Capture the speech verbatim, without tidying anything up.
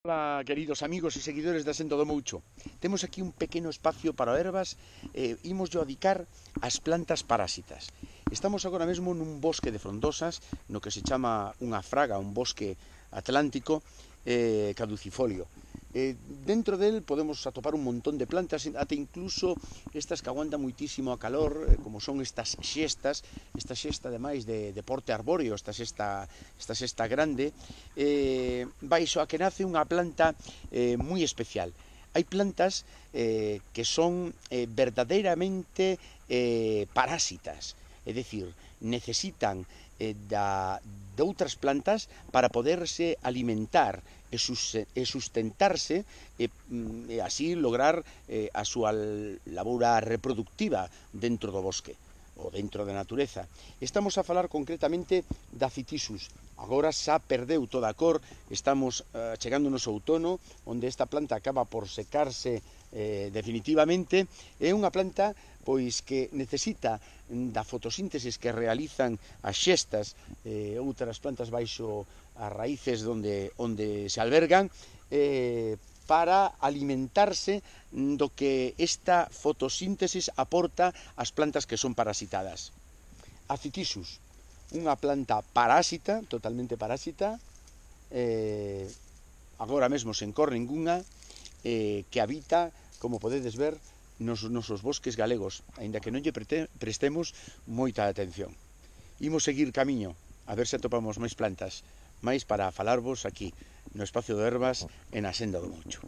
Ola, queridos amigos e seguidores da Senda do Moucho. Temos aquí un pequeno espacio para ervas e eh, imos yo dedicar ás plantas parasitas. Estamos agora mesmo nun bosque de frondosas, no que se chama unha fraga, un bosque atlántico eh, caducifolio. Eh, dentro del podemos atopar un montón de plantas, até incluso estas que aguantan muitísimo a calor, eh, como son estas xestas, esta xesta ademais de, de porte arbóreo, esta xesta, esta xesta grande, eh, baixo a que nace unha planta eh, moi especial. Hai plantas eh, que son eh, verdadeiramente eh, parásitas, é dicir, necesitan eh, da, de outras plantas para poderse alimentar e sustentarse e, e así lograr eh, a súa labora reproductiva dentro do bosque ou dentro da natureza. Estamos a falar concretamente da Phytiscus. Agora xa perdeu toda a cor, estamos uh, chegándonos ao outono, onde esta planta acaba por secarse eh, definitivamente. É unha planta pois que necesita da fotosíntesis que realizan as xestas e eh, outras plantas baixo as raíces onde, onde se albergan eh, para alimentarse do que esta fotosíntesis aporta ás plantas que son parasitadas. A Phytiscus, unha planta parásita, totalmente parásita, eh, agora mesmo sen cor ningunha, eh, que habita, como podedes ver, nos nosos bosques galegos, aínda que non lle prestemos moita atención. Imos seguir camiño, a ver se atopamos máis plantas, máis para falarvos aquí, no espacio de ervas, en a Senda do Moucho.